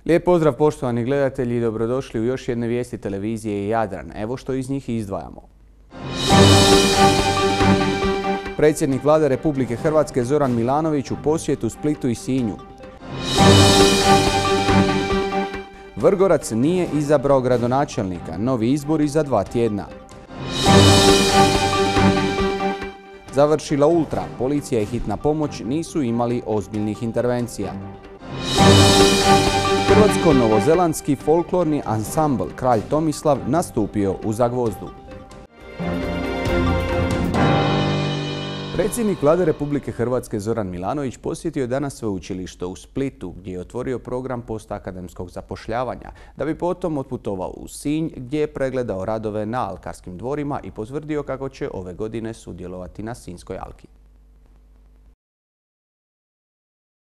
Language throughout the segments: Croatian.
Lijep pozdrav poštovani gledatelji i dobrodošli u još jedne vijesti televizije Jadran. Evo što iz njih izdvajamo. Predsjednik Vlade Republike Hrvatske Zoran Milanović u posjetu Splitu i Sinju. Vrgorac nije izabrao gradonačelnika, novi izbori za 2 tjedna. Završila Ultra, policija i hitna pomoć nisu imali ozbiljnih intervencija. Hrvatsko-novozelandski folklorni ansambl Kralj Tomislav nastupio u Zagvozdu. Predsjednik Vlade Republike Hrvatske Zoran Milanović posjetio je danas sveučilište u Splitu gdje je otvorio program postakademskog zapošljavanja, da bi potom otputovao u Sinj gdje je pregledao radove na alkarskim dvorima i potvrdio kako će ove godine sudjelovati na Sinjskoj alki.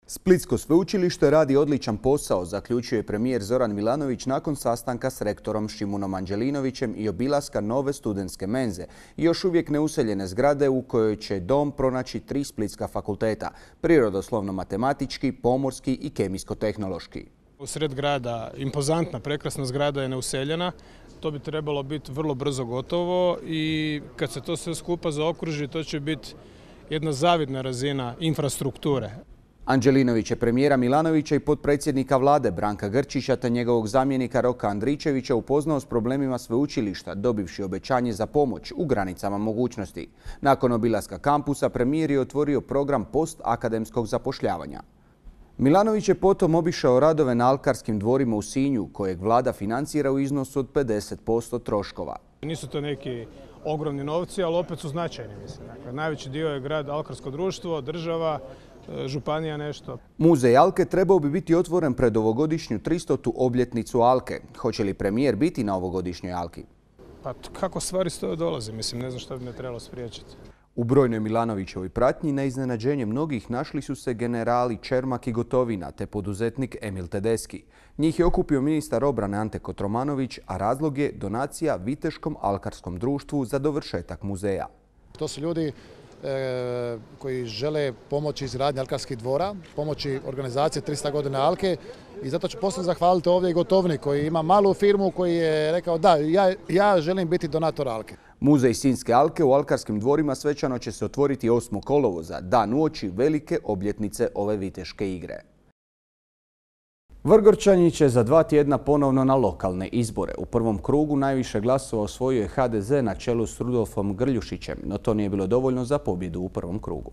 Splitsko sveučilište radi odličan posao, zaključio je premijer Zoran Milanović nakon sastanka s rektorom Šimunom Anđelinovićem i obilaska nove studentske menze i još uvijek neuseljene zgrade u kojoj će dom pronaći 3 splitska fakulteta, prirodoslovno-matematički, pomorski i kemijsko-tehnološki. U sred grada impozantna, prekrasna zgrada je neuseljena. To bi trebalo biti vrlo brzo gotovo i kad se to sve skupa zaokruži, to će biti jedna zavidna razina infrastrukture. Anđelinović je premijera Milanovića i potpredsjednika Vlade Branka Grčića te njegovog zamjenika Roka Andričevića upoznao s problemima sveučilišta, dobivši obećanje za pomoć u granicama mogućnosti. Nakon obilaska kampusa premijer je otvorio program postakademskog zapošljavanja. Milanović je potom obišao radove na alkarskim dvorima u Sinju, kojeg Vlada financira u iznosu od 50% troškova. Nisu to neki ogromni novci, ali opet su značajni, mislim. Dakle, najveći dio je grad alkarsko društvo, država, županija nešto. Muzej Alke trebao bi biti otvoren pred ovogodišnju 300. obljetnicu Alke. Hoće li premijer biti na ovogodišnjoj Alki? Pa kako stvari stoje dolaze, mislim, ne znam što bi me trebalo spriječiti. U brojnoj Milanovićevoj pratnji na iznenađenje mnogih našli su se generali Čermak i Gotovina te poduzetnik Emil Tedeski. Njih je okupio ministar obrane Ante Kotromanović, a razlog je donacija Viteškom alkarskom društvu za dovršetak muzeja. To su ljudi koji žele pomoći izgradnji alkarskih dvora, pomoći organizacije 300 godina Alke i zato ću posebno zahvaliti ovdje i Gotovini koji ima malu firmu koji je rekao da, ja želim biti donator Alke. Muzej Sinjske alke u alkarskim dvorima svečano će se otvoriti 8. kolovoza, dan uoči velike obljetnice ove viteške igre. Vrgorčani će za 2 tjedna ponovno na lokalne izbore. U prvom krugu najviše glasova osvojio je HDZ na čelu s Rudolfom Grljušićem, no to nije bilo dovoljno za pobjedu u prvom krugu.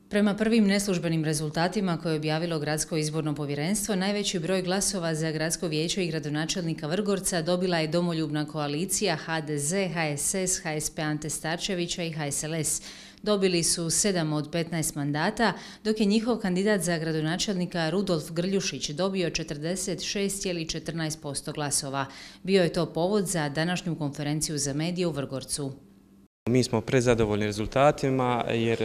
Prema prvim neslužbenim rezultatima koje je objavilo Gradsko izborno povjerenstvo, najveći broj glasova za Gradsko vijeće i gradonačelnika Vrgorca dobila je Domoljubna koalicija HDZ, HSS, HSP Ante Starčevića i HSLS. Dobili su 7 od 15 mandata, dok je njihov kandidat za gradonačelnika Rudolf Grljušić dobio 46,14% glasova. Bio je to povod za današnju konferenciju za medije u Vrgorcu. Mi smo prezadovoljni rezultatima jer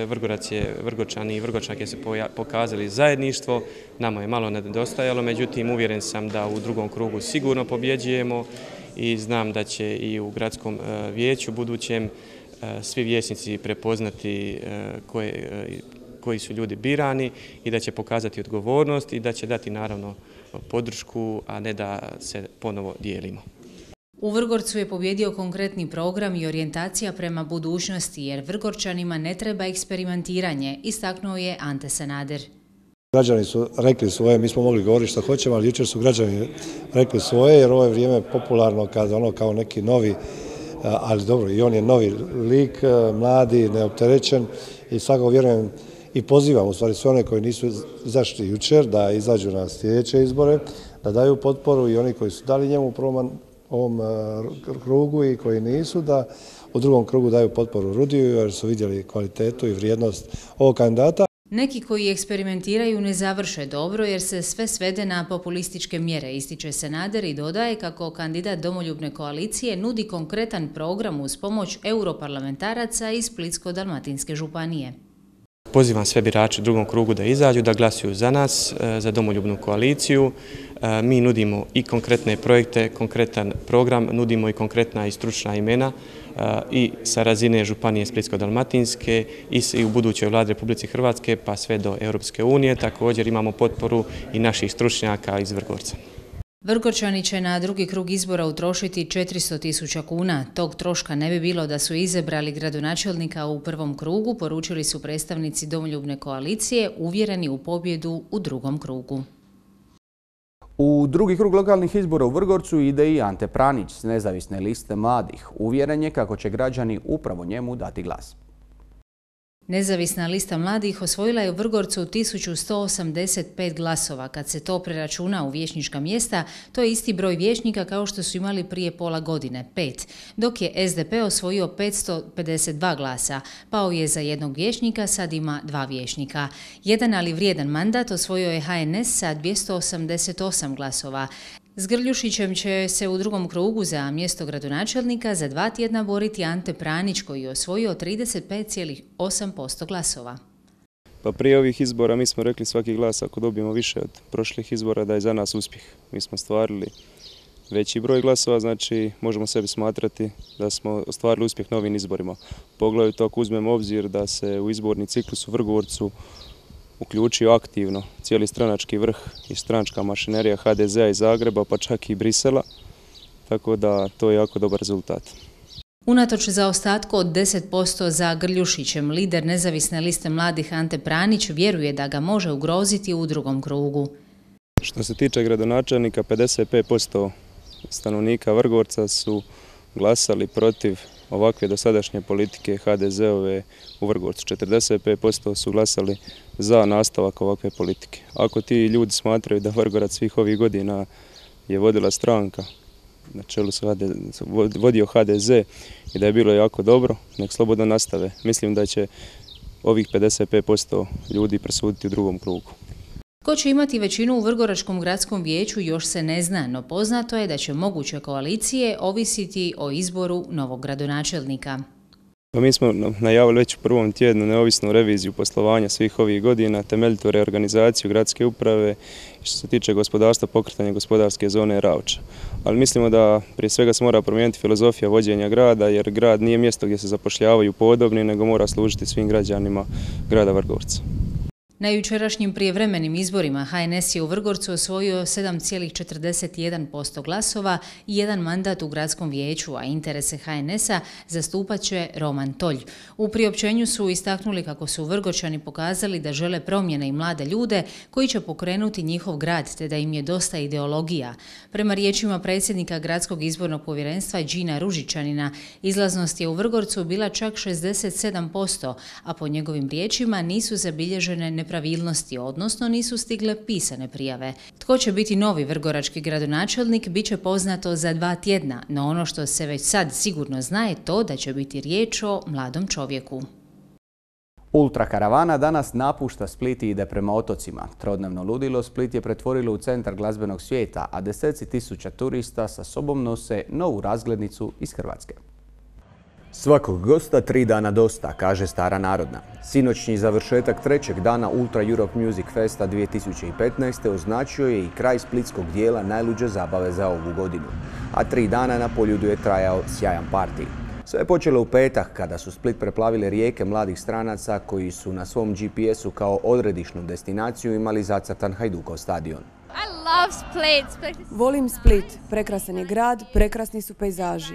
Vrgorčani i Vrgorčanke su pokazali zajedništvo. Nama je malo nedostajalo, međutim uvjeren sam da u drugom krugu sigurno pobjeđujemo i znam da će i u gradskom vijeću budućem svi vijećnici prepoznati koji su ljudi birani i da će pokazati odgovornost i da će dati naravno podršku, a ne da se ponovo dijelimo. U Vrgorcu je pobjedio konkretni program i orijentacija prema budućnosti, jer Vrgorčanima ne treba eksperimentiranje, istaknuo je Ante Sanader. Građani su rekli svoje, mi smo mogli govoriti što hoćemo, ali jučer su građani rekli svoje, jer ovo je vrijeme popularno kada kao neki novi, ali dobro, i on je novi lik, mladi, neopterećen i svakako vjerujem i pozivam u stvari sve one koji nisu izašli jučer da izađu na sljedeće izbore, da daju potporu i oni koji su dali njemu u ovom krugu i koji nisu, da u drugom krugu daju potporu Rudiju jer su vidjeli kvalitetu i vrijednost ovog kandidata. Neki koji eksperimentiraju ne završe dobro jer se sve svede na populističke mjere, ističe Sanader i dodaje kako kandidat Domoljubne koalicije nudi konkretan program uz pomoć europarlamentaraca iz Splitsko-dalmatinske županije. Pozivam sve birače u drugom krugu da izađu, da glasuju za nas, za domoljubnu koaliciju. Mi nudimo i konkretne projekte, konkretan program, nudimo i konkretna i stručna imena i sa razine Županije Splitsko-dalmatinske i u budućoj vladi Republike Hrvatske pa sve do Europske unije. Također imamo potporu i naših stručnjaka iz Vrgorca. Vrgorčani će na drugi krug izbora utrošiti 400.000 kuna. Tog troška ne bi bilo da su izabrali gradonačelnika u prvom krugu, poručili su predstavnici Domoljubne koalicije, uvjereni u pobjedu u drugom krugu. U drugi krug lokalnih izbora u Vrgorcu ide i Ante Pranić s nezavisne liste mladih. Uvjeren je kako će građani upravo njemu dati glas. Nezavisna lista mladih osvojila je u Vrgorcu 1185 glasova. Kad se to preračuna u vijećnička mjesta, to je isti broj vijećnika kao što su imali prije pola godine, 5, dok je SDP osvojio 552 glasa. Pao je za jednog vijećnika, sad ima 2 vijećnika. Jedan ali vrijedan mandat osvojio je HNS sa 288 glasova. S Grljušićem će se u drugom krugu za mjesto gradonačelnika za 2 tjedna boriti Ante Pranić koji je osvojio 35,8% glasova. Pa prije ovih izbora mi smo rekli svaki glas ako dobijemo više od prošlih izbora da je za nas uspjeh. Mi smo ostvarili veći broj glasova, znači možemo sebi smatrati da smo ostvarili uspjeh na ovim izborima. Poglavito ako uzmemo obzir da se u izborni ciklus u Vrgorcu uključio aktivno cijeli stranački vrh i stranačka mašinerija HDZ-a iz Zagreba, pa čak i Brisela, tako da to je jako dobar rezultat. Unatoč zaostatku od 10% za Grljušićem, lider nezavisne liste mladih Ante Pranić vjeruje da ga može ugroziti u drugom krugu. Što se tiče gradonačelnika, 55% stanovnika Vrgorca su glasali protiv ovakve dosadašnje politike HDZ-ove u Vrgorcu. 45% su glasali za nastavak ovakve politike. Ako ti ljudi smatraju da Vrgorac svih ovih godina je vodila stranka, na čelu vodio HDZ i da je bilo jako dobro, nek slobodno nastave. Mislim da će ovih 55% ljudi presuditi u drugom krugu. Ko će imati većinu u Vrgoračkom gradskom vijeću još se ne zna, no poznato je da će moguće koalicije ovisiti o izboru novog gradonačelnika. Mi smo najavili već u prvom tjednu neovisnu reviziju poslovanja svih ovih godina, temeljitu reorganizaciju gradske uprave i što se tiče gospodarstva, pokretanja gospodarske zone Ravča. Ali mislimo da prije svega se mora promijeniti filozofija vođenja grada, jer grad nije mjesto gdje se zapošljavaju podobni, nego mora služiti svim građanima grada Vrgorca. Na jučerašnjim prijevremenim izborima HNS je u Vrgorcu osvojio 7,41% glasova i jedan mandat u gradskom vijeću, a interese HNS-a zastupat će Roman Tolj. U priopćenju su istaknuli kako su Vrgorčani pokazali da žele promjene i mlade ljude koji će pokrenuti njihov grad, te da im je dosta ideologija. Prema riječima predsjednika Gradskog izbornog povjerenstva Đina Ružičanina, izlaznost je u Vrgorcu bila čak 67%, a po njegovim riječima nisu zabilježene nepravilnosti, odnosno nisu stigle pisane prijave. Tko će biti novi vrgorački gradonačelnik bit će poznato za 2 tjedna, no ono što se već sad sigurno zna je to da će biti riječ o mladom čovjeku. Ultrakaravana danas napušta Split i ide prema otocima. Trodnevno ludilo Split je pretvorilo u centar glazbenog svijeta, a deseci tisuća turista sa sobom nose novu razglednicu iz Hrvatske. Svakog gosta 3 dana dosta, kaže stara narodna. Sinoćni završetak 3. dana Ultra Europe Music Festa 2015. označio je i kraj splitskog dijela najluđe zabave za ovu godinu. A 3 dana na Poljudu je trajao sjajan parti. Sve je počelo u petak kada su Split preplavile rijeke mladih stranaca koji su na svom GPS-u kao odredišnu destinaciju imali zacrtan Hajdukov stadion. Volim Split, prekrasan je grad, prekrasni su pejzaži.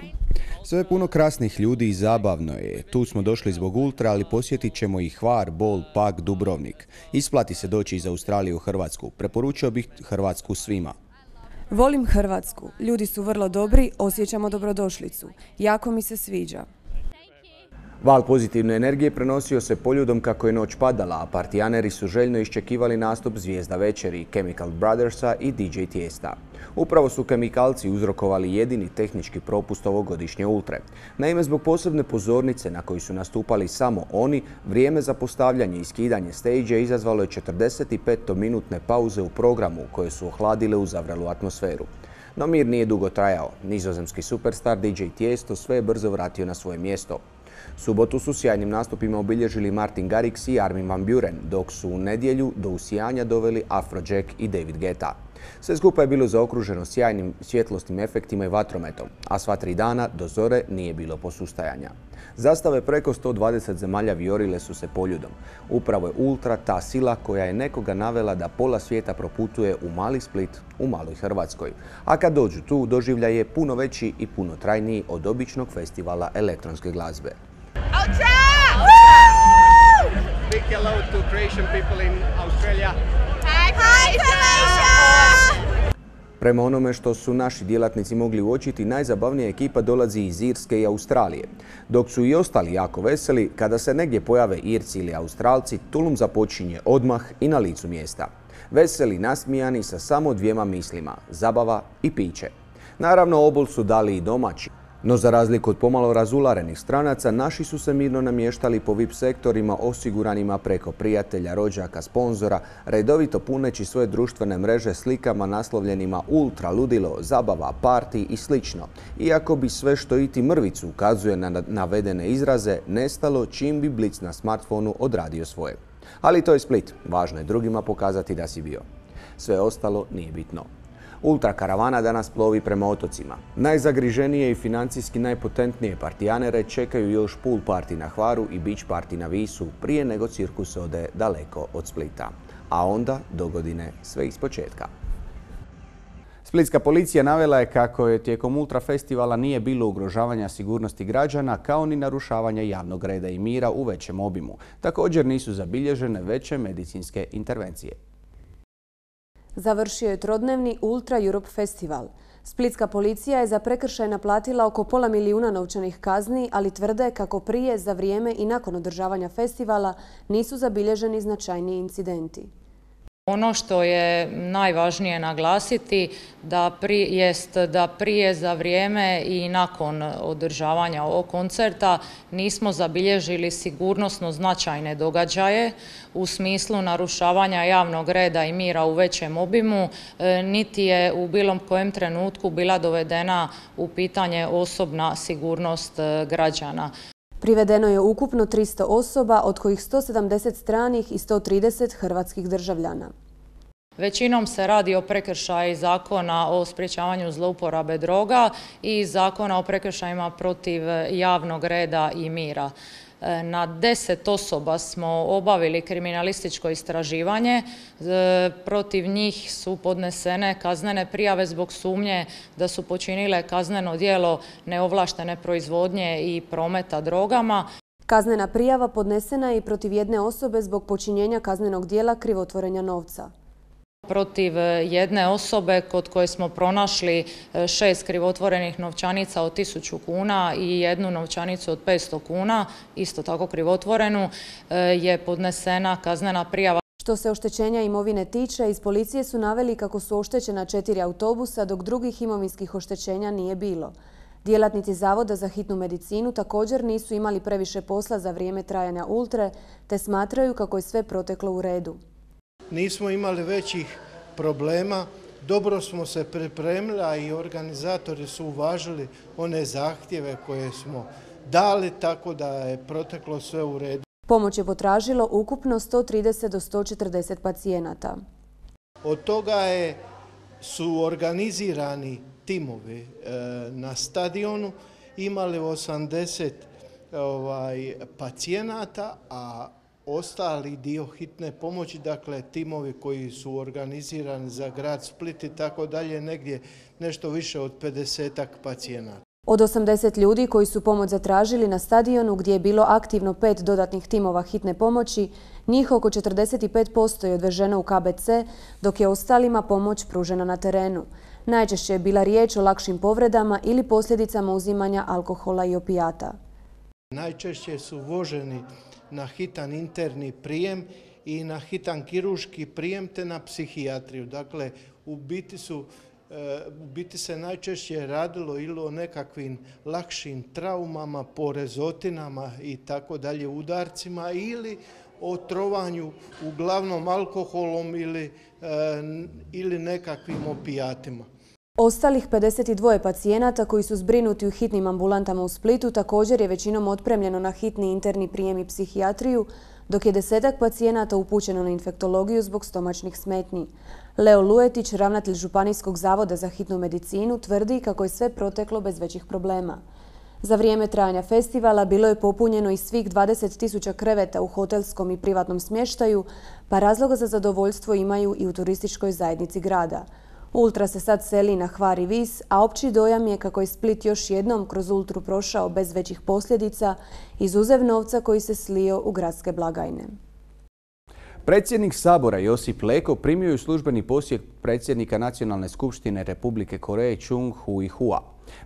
Sve je puno krasnih ljudi i zabavno je. Tu smo došli zbog Ultra, ali posjetit ćemo i Hvar, Bol, Pag, Dubrovnik. Isplati se doći iz Australije u Hrvatsku. Preporučio bih Hrvatsku svima. Volim Hrvatsku. Ljudi su vrlo dobri, osjećamo dobrodošlicu. Jako mi se sviđa. Val pozitivne energije prenosio se Poljudom kako je noć padala, a partijaneri su željno iščekivali nastup Zvijezda večeri, Chemical Brothersa i DJ Tijesta. Upravo su kemikalci uzrokovali jedini tehnički propust ovogodišnje Ultre. Naime, zbog posebne pozornice na kojoj su nastupali samo oni, vrijeme za postavljanje i skidanje stage izazvalo je 45-minutne pauze u programu koje su ohladile uzavrelu atmosferu. No mir nije dugo trajao. Nizozemski superstar DJ Tijesto sve je brzo vratio na svoje mjesto. Subotu su sjajnim nastupima obilježili Martin Garrix i Armin van Buuren, dok su u nedjelju do usijanja doveli Afrojack i David Guetta. Sve skupa je bilo zaokruženo sjajnim svjetlosnim efektima i vatrometom, a sva 3 dana do zore nije bilo posustajanja. Zastave preko 120 zemalja vijorile su se poljudom. Upravo je Ultra ta sila koja je nekoga navela da pola svijeta proputuje u mali Split, u maloj Hrvatskoj. A kad dođu tu, doživljaj je puno veći i puno trajniji od običnog festivala elektronske glazbe. Ultra! Big hello to Croatian people in Australia. Hi Croatia! Prema onome što su naši djelatnici mogli uočiti, najzabavnija ekipa dolazi iz Irske i Australije. Dok su i ostali jako veseli, kada se negdje pojave Irci ili Australci, tulum započinje odmah i na licu mjesta. Veseli, nasmijani sa samo 2 mislima, zabava i piće. Naravno, obol su dali i domaći. No za razliku od pomalo razularenih stranaca, naši su se mirno namještali po VIP sektorima osiguranima preko prijatelja, rođaka, sponzora, redovito puneći svoje društvene mreže slikama naslovljenima ultra, ludilo, zabava, parti i slično. Iako bi sve što iti mrvicu ukazuje na navedene izraze, nestalo čim bi blic na smartfonu odradio svoje. Ali to je Split, važno je drugima pokazati da si bio. Sve ostalo nije bitno. Ultra karavana danas plovi prema otocima. Najzagriženije i financijski najpotentnije partijanere čekaju još pool party na Hvaru i beach party na Visu prije nego cirkus ode daleko od Splita. A onda dogodine sve ispočetka. Splitska policija navela je kako je tijekom Ultra festivala nije bilo ugrožavanja sigurnosti građana kao ni narušavanja javnog reda i mira u većem obimu. Također nisu zabilježene veće medicinske intervencije. Završio je trodnevni Ultra Europe festival. Splitska policija je za prekršaj naplatila oko pola milijuna novčanih kazni, ali tvrde kako prije, za vrijeme i nakon održavanja festivala nisu zabilježeni značajniji incidenti. Ono što je najvažnije naglasiti jest da prije, za vrijeme i nakon održavanja ovog koncerta nismo zabilježili sigurnosno značajne događaje u smislu narušavanja javnog reda i mira u većem obimu, niti je u bilo kojem trenutku bila dovedena u pitanje osobna sigurnost građana. Privedeno je ukupno 300 osoba, od kojih 170 stranih i 130 hrvatskih državljana. Većinom se radi o prekršaju Zakona o sprječavanju zlouporabe droga i Zakona o prekršajima protiv javnog reda i mira. Na 10 osoba smo obavili kriminalističko istraživanje. Protiv njih su podnesene kaznene prijave zbog sumnje da su počinile kazneno djelo neovlaštene proizvodnje i prometa drogama. Kaznena prijava podnesena je i protiv jedne osobe zbog počinjenja kaznenog djela krivotvorenja novca. Protiv jedne osobe kod koje smo pronašli 6 krivotvorenih novčanica od 1000 kuna i jednu novčanicu od 500 kuna, isto tako krivotvorenu, je podnesena kaznena prijava. Što se oštećenja imovine tiče, iz policije su naveli kako su oštećena 4 autobusa, dok drugih imovinskih oštećenja nije bilo. Djelatnici Zavoda za hitnu medicinu također nisu imali previše posla za vrijeme trajanja Ultre, te smatraju kako je sve proteklo u redu. Nismo imali većih problema, dobro smo se pripremili, a i organizatori su uvažili one zahtjeve koje smo dali, tako da je proteklo sve u redu. Pomoć je potražilo ukupno 130 do 140 pacijenata. Od toga su organizirani timovi na stadionu, imali 80 pacijenata, a ostali dio hitne pomoći, dakle timovi koji su organizirani za grad Split i tako dalje, negdje nešto više od 50-ak pacijenata. Od 80 ljudi koji su pomoć zatražili na stadionu, gdje je bilo aktivno 5 dodatnih timova hitne pomoći, njih oko 45% je odveženo u KBC, dok je ostalima pomoć pružena na terenu. Najčešće je bila riječ o lakšim povredama ili posljedicama uzimanja alkohola i opijata. Najčešće su voženi na hitan interni prijem i na hitan kirurški prijem te na psihijatriju. Dakle, u biti se najčešće radilo ili o nekakvim lakšim traumama, porezotinama i tako dalje, udarcima, ili o trovanju uglavnom alkoholom ili nekakvim opijatima. Ostalih 52 pacijenata koji su zbrinuti u hitnim ambulantama u Splitu također je većinom otpremljeno na hitni interni prijem i psihijatriju, dok je 10 pacijenata upućeno na infektologiju zbog stomačnih smetnji. Leo Luetić, ravnatelj Županijskog zavoda za hitnu medicinu, tvrdi kako je sve proteklo bez većih problema. Za vrijeme trajanja festivala bilo je popunjeno i svih 20.000 kreveta u hotelskom i privatnom smještaju, pa razloga za zadovoljstvo imaju i u turističkoj zajednici grada. Ultra se sad seli na Hvar i Vis, a opći dojam je kako je Split još jednom kroz Ultru prošao bez većih posljedica, izuzev novca koji se slio u gradske blagajne. Predsjednik Sabora Josip Leko primio je službeni posjet predsjednika Nacionalne skupštine Republike Koreje Chung Hui-hua.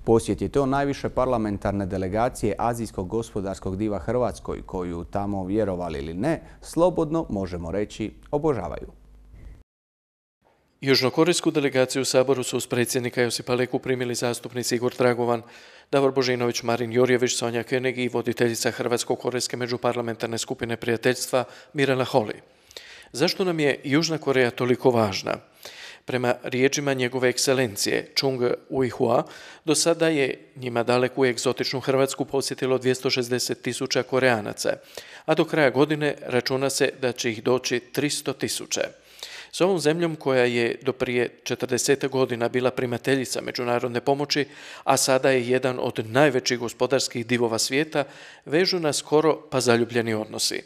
Posjet je to najviše parlamentarne delegacije azijskog gospodarskog diva Hrvatskoj, koju tamo, vjerovali ili ne, slobodno možemo reći obožavaju. Južnokorejsku delegaciju u Saboru su uz predsjednika Josipa Leku primili zastupnici Igor Dragovan, Davor Božinović, Marin Jurjević, Sonja König i voditeljica Hrvatsko-korejske međuparlamentarne skupine prijateljstva Mirela Holy. Zašto nam je Južna Koreja toliko važna? Prema riječima njegove ekscelencije Chung Hui-hua, do sada je njima daleku i egzotičnu Hrvatsku posjetilo 260.000 Koreanaca, a do kraja godine računa se da će ih doći 300.000. S ovom zemljom koja je do prije 40 godina bila primateljica međunarodne pomoći, a sada je jedan od najvećih gospodarskih divova svijeta, vežu nas skoro pa zaljubljeni odnosi.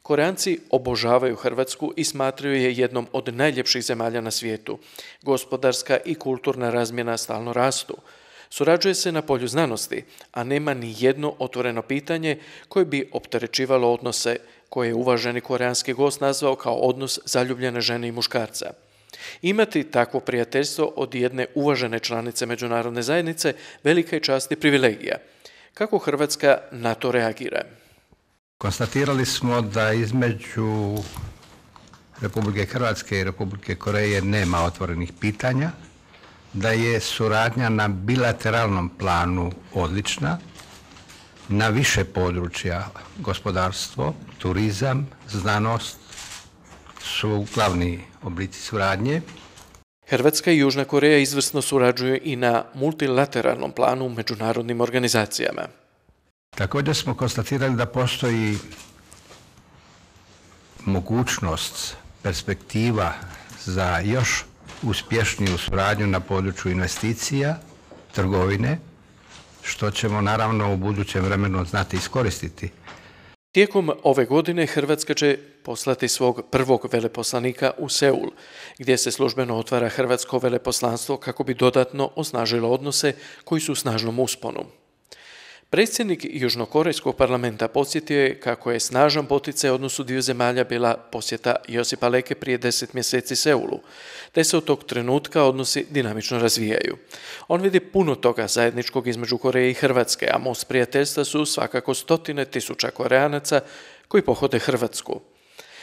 Koreanci obožavaju Hrvatsku i smatraju je jednom od najljepših zemalja na svijetu. Gospodarska i kulturna razmjena stalno rastu. Surađuje se na polju znanosti, a nema ni jedno otvoreno pitanje koje bi opterećivalo odnose koje je uvaženi koreanski gost nazvao kao odnos zaljubljene žene i muškarca. Imati takvo prijateljstvo od jedne uvažene članice međunarodne zajednice velika je čast i privilegija. Kako Hrvatska na to reagira? Konstatirali smo da između Republike Hrvatske i Republike Koreje nema otvorenih pitanja, da je suradnja na bilateralnom planu odlična, na više područja gospodarstvo, turizam, znanost su glavni oblici suradnje. Hrvatska i Južna Koreja izvrsno surađuju i na multilateralnom planu u međunarodnim organizacijama. Također smo konstatirali da postoji mogućnost, perspektiva za još uspješniju suradnju na području investicija, trgovine, što ćemo naravno u budućem vremenu znati iskoristiti. Tijekom ove godine Hrvatska će poslati svog prvog veleposlanika u Seul, gdje se službeno otvara hrvatsko veleposlanstvo kako bi dodatno osnažilo odnose koji su u snažnom usponu. Predsjednik Južnokorejskog parlamenta podsjetio je kako je snažan poticaj odnosu dviju zemalja bila posjeta Josipa Leke prije 10 mjeseci Seulu, te se od tog trenutka odnosi dinamično razvijaju. On vidi puno toga zajedničkog između Koreje i Hrvatske, a most prijateljstva su svakako 100.000 Koreanaca koji pohode Hrvatsku.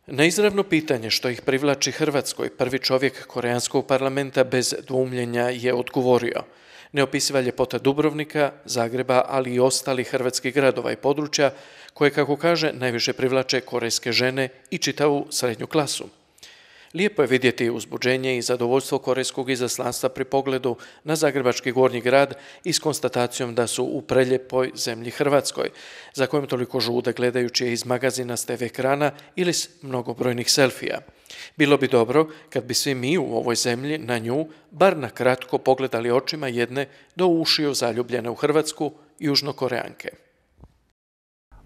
Na izravno pitanje što ih privlači Hrvatskoj, prvi čovjek koreanskog parlamenta bez dvoumljenja je odgovorio: neopisiva ljepota Dubrovnika, Zagreba, ali i ostalih hrvatskih gradova i područja koje, kako kaže, najviše privlače korejske žene i čitavu srednju klasu. Lijepo je vidjeti uzbuđenje i zadovoljstvo korejskog izaslanstva pri pogledu na zagrebački Gornji grad i s konstatacijom da su u preljepoj zemlji Hrvatskoj, za kojom toliko žude gledajući je iz magazina s TV ekrana ili s mnogobrojnih selfija. Bilo bi dobro kad bi svi mi u ovoj zemlji na nju bar na kratko pogledali očima jedne do ušiju zaljubljene u Hrvatsku Južnokoreanke.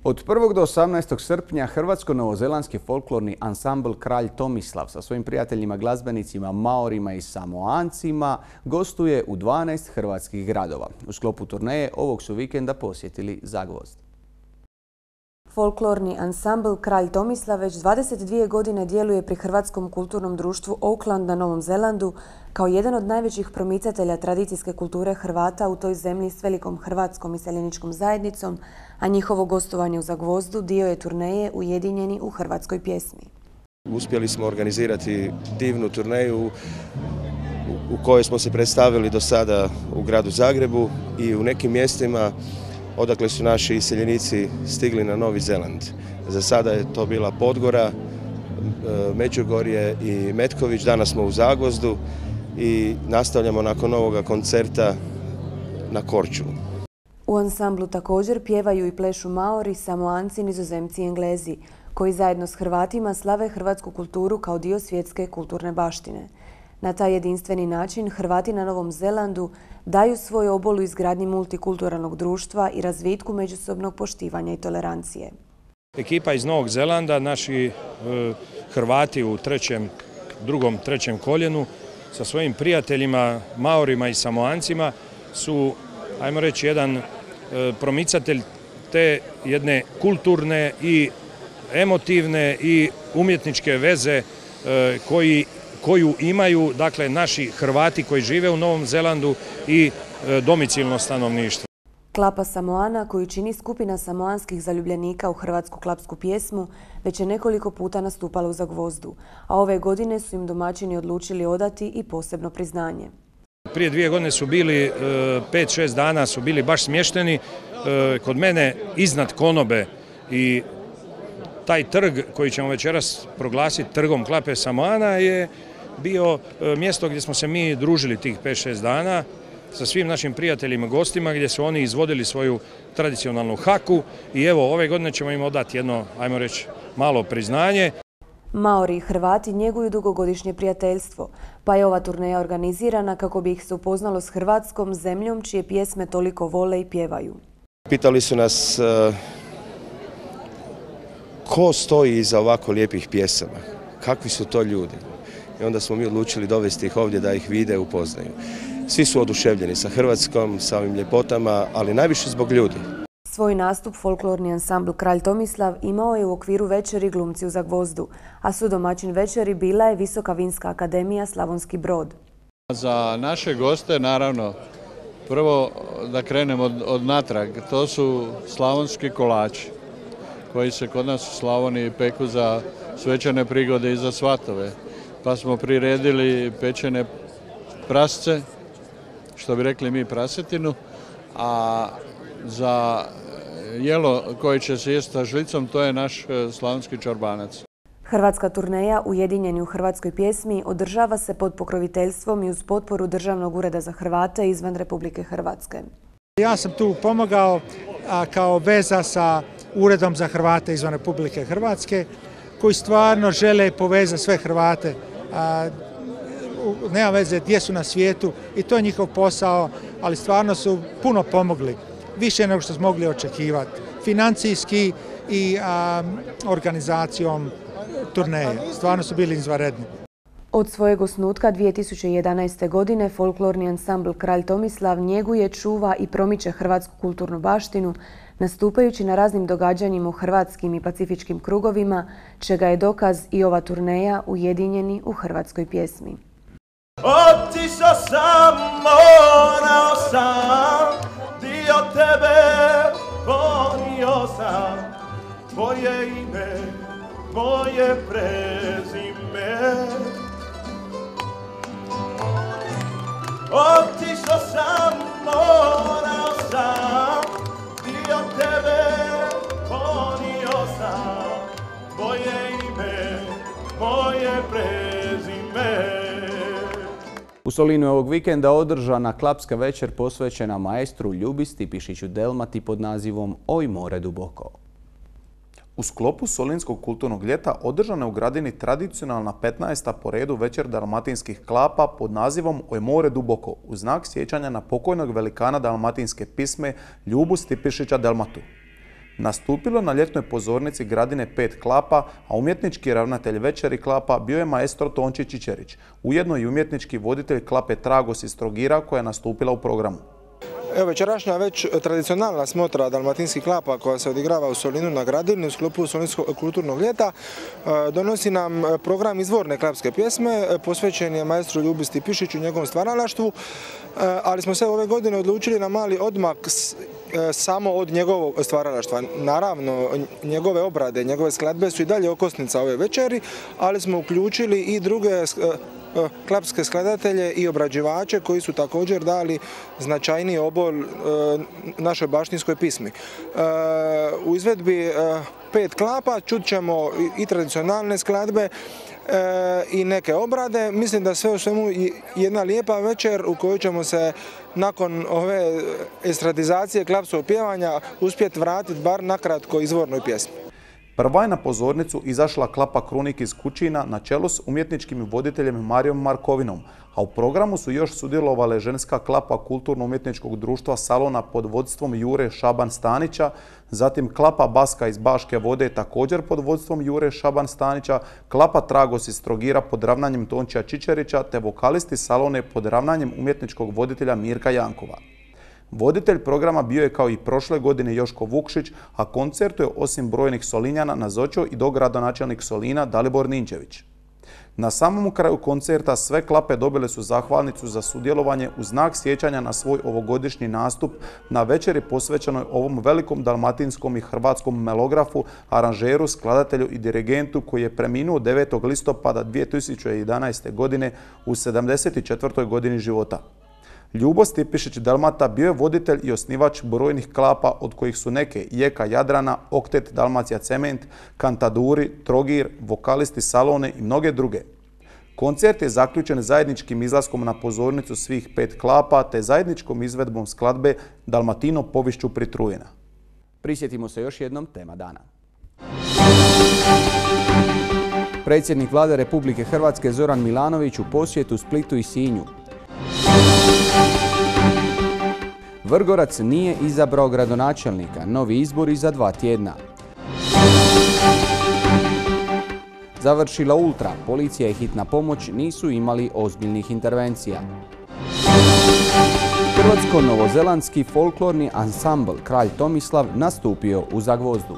Od 1. do 18. srpnja hrvatsko-novozelandski folklorni ansambl Kralj Tomislav sa svojim prijateljima glazbenicima Maorima i Samoancima gostuje u 12 hrvatskih gradova. U sklopu turneje ovog su vikenda posjetili Zagvozd. Folklorni ansambl Kralj Tomislav već 22 godine djeluje pri Hrvatskom kulturnom društvu Auckland na Novom Zelandu kao jedan od najvećih promicatelja tradicijske kulture Hrvata u toj zemlji s velikom hrvatskom iseljeničkom zajednicom, a njihovo gostovanje u Zagvozdu dio je turneje Ujedinjeni u hrvatskoj pjesmi. Uspjeli smo organizirati divnu turneju u kojoj smo se predstavili do sada u gradu Zagrebu i u nekim mjestima odakle su naši iseljenici stigli na Novi Zeland. Za sada je to bila Podgora, Međugorje i Metković, danas smo u Zagvozdu i nastavljamo nakon ovoga koncerta na Korčulu. U ansamblu također pjevaju i plešu Maori, Samoanci, Nizozemci i Englezi, koji zajedno s Hrvatima slave hrvatsku kulturu kao dio svjetske kulturne baštine. Na taj jedinstveni način Hrvati na Novom Zelandu daju svoj obol u izgradnji multikulturalnog društva i razvitku međusobnog poštivanja i tolerancije. Ekipa iz Novog Zelanda, naši Hrvati u drugom, trećem koljenu sa svojim prijateljima, Maorima i Samoancima su, ajmo reći, jedan promicatelj te jedne kulturne i emotivne i umjetničke veze koju imaju, dakle, naši Hrvati koji žive u Novom Zelandu i domicilno stanovništvo. Klapa Samoana, koju čini skupina samoanskih zaljubljenika u hrvatsku klapsku pjesmu, već je nekoliko puta nastupala u Zagvozdu, a ove godine su im domaćini odlučili odati i posebno priznanje. Prije 2 godine su bili, 5-6 dana su bili baš smješteni kod mene iznad konobe i taj trg koji ćemo večeras proglasiti trgom Klape Samoana je bio mjesto gdje smo se mi družili tih 5-6 dana sa svim našim prijateljima i gostima, gdje su oni izvodili svoju tradicionalnu haku i evo ove godine ćemo im odati jedno, ajmo reći, malo priznanje. Maori i Hrvati njeguju dugogodišnje prijateljstvo, pa je ova turneja organizirana kako bi ih se upoznalo s Hrvatskom, zemljom čije pjesme toliko vole i pjevaju. Pitali su nas ko stoji iza ovako lijepih pjesama, kakvi su to ljudi. I onda smo mi odlučili dovesti ih ovdje da ih vide i upoznaju. Svi su oduševljeni sa Hrvatskom, sa ovim ljepotama, ali najviše zbog ljudi. Svoj nastup folklorni ansambl Kralj Tomislav imao je u okviru večeri Glumci u Zagvozdu, a sudomaćin večeri bila je Visoka vinska akademija Slavonski Brod. Za naše goste, naravno, prvo da krenemo od natrag, to su slavonski kolači koji se kod nas u Slavoniji peku za svečane prigode i za svatove. Pa smo priredili pečene prasce, što bi rekli mi prasetinu, a za jelo koje će se jesti sa žlicom, to je naš slavonski čorbanac. Hrvatska turneja Ujedinjeni u hrvatskoj pjesmi održava se pod pokroviteljstvom i uz potporu Državnog ureda za Hrvate izvan Republike Hrvatske. Ja sam tu pomogao kao veza sa Uredom za Hrvate izvan Republike Hrvatske, koji stvarno žele povezati sve Hrvate. Nema veze gdje su na svijetu i to je njihov posao, ali stvarno su puno pomogli, više nego što smo mogli očekivati, financijski i organizacijom turneje. Stvarno su bili izvanredni. Od svojeg osnutka 2011. godine folklorni ansambl Kralj Tomislav njeguje, čuva i promiče hrvatsku kulturnu baštinu, nastupajući na raznim događanjima u hrvatskim i pacifičkim krugovima, čega je dokaz i ova turneja Ujedinjeni u hrvatskoj pjesmi. Otišao sam, morao sam, dio tebe ponio sam, tvoje ime, tvoje prezime. Otišao sam, morao sam, dio tebe ponio sam, tvoje ime, tvoje prezime. U Solinu je ovog vikenda održana klapska večer posvećena maestru Ljubi Stipišiću Delmati pod nazivom Oj more duboko. U sklopu Solinskog kulturnog ljeta održana je u gradini tradicionalna 15. po redu večer dalmatinskih klapa pod nazivom Oj more duboko, u znak sjećanja na pokojnog velikana dalmatinske pisme Ljubu Stipišića Delmatu. Nastupilo na ljetnoj pozornici gradine 5 klapa, a umjetnički ravnatelj večeri klapa bio je maestro Tonči Čičerić, ujedno i umjetnički voditelj klape Tragos iz Trogira koja je nastupila u programu. Evo, večerašnja već tradicionalna smotra dalmatinskih klapa koja se odigrava u Solinu na gradini u sklopu Solinskog kulturnog ljeta donosi nam program izvorne klapske pjesme, posvećen je maestru Ljubi Stipišiću i njegovom stvaralaštvu, ali smo se ove godine odlučili na mali odmak samo od njegovog stvaralaštva. Naravno, njegove obrade, njegove skladbe su i dalje okosnica ove večeri, ali smo uključili i druge klapske skladatelje i obrađivače koji su također dali značajniji obol našoj baštinskoj pismi. U izvedbi 5 klapa, čut ćemo i tradicionalne skladbe i neke obrade. Mislim da sve u svemu jedna lijepa večer u kojoj ćemo se nakon ove estradizacije klapskog pjevanja uspjeti vratiti bar nakratko izvornoj pjesmi. Prva je na pozornicu izašla klapa Krunik iz Kućina na čelu s umjetničkim voditeljem Marijom Markovinom, a u programu su još sudjelovale ženska klapa Kulturno-umjetničkog društva Salona pod vodstvom Jure Šaban Stanića, zatim klapa Baska iz Baške Vode također pod vodstvom Jure Šaban Stanića, klapa Tragos iz Trogira pod ravnanjem Tončija Čičerića te vokalisti Salone pod ravnanjem umjetničkog voditelja Mirka Jankova. Voditelj programa bio je kao i prošle godine Joško Vukšić, a koncertu je osim brojnih Solinjana nazočio i dogradonačelnik Solina Dalibor Ninčević. Na samom kraju koncerta sve klape dobile su zahvalnicu za sudjelovanje u znak sjećanja na svoj ovogodišnji nastup na večeri posvećenoj ovom velikom dalmatinskom i hrvatskom melografu, aranžeru, skladatelju i dirigentu koji je preminuo 9. listopada 2011. godine u 74. godini života. Ljubo Stipišić Dalmata bio je voditelj i osnivač brojnih klapa od kojih su neke Jeka Jadrana, Oktet, Dalmacija Cement, Kantaduri, Trogir, vokalisti Salone i mnoge druge. Koncert je zaključen zajedničkim izlaskom na pozornicu svih 5 klapa te zajedničkom izvedbom skladbe Dalmatino povišću pritrujena. Prisjetimo se još jednom tema dana. Predsjednik Vlade Republike Hrvatske Zoran Milanović u posjetu Splitu i Sinju. Vrgorac nije izabrao gradonačelnika, novi izbori za 2 tjedna. Završila Ultra, policija i hitna pomoć nisu imali ozbiljnih intervencija. Hrvatsko-novozelandski folklorni ansambl Kralj Tomislav nastupio u Zagvozdu.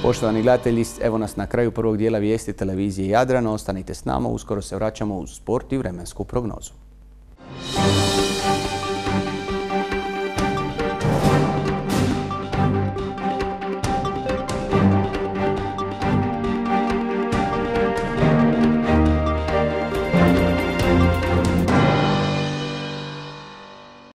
Poštovani gledatelji, evo nas na kraju prvog dijela vijesti televizije Jadran. Ostanite s nama, uskoro se vraćamo u sport i vremensku prognozu.